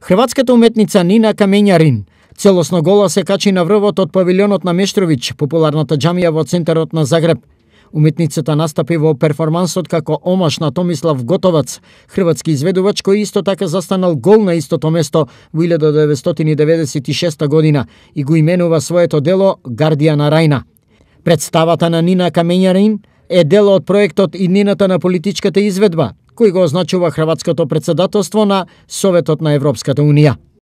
Хрватската уметница Нина Камењарин целосно гола се качи на врвот од павилионот на Мештровиќ, популарната џамија во центарот на Загреб. Уметницата настапи во перформансот како омаш на Томислав Готовац, хрватски изведувач кој исто така застанал гол на истото место во 1996 година и го именува своето дело Гардија на Рајна. Представата на Нина Камењарин е дел од проектот Иднината на политичката изведба, кој го означува хрватското претседателство на Советот на Европската Унија.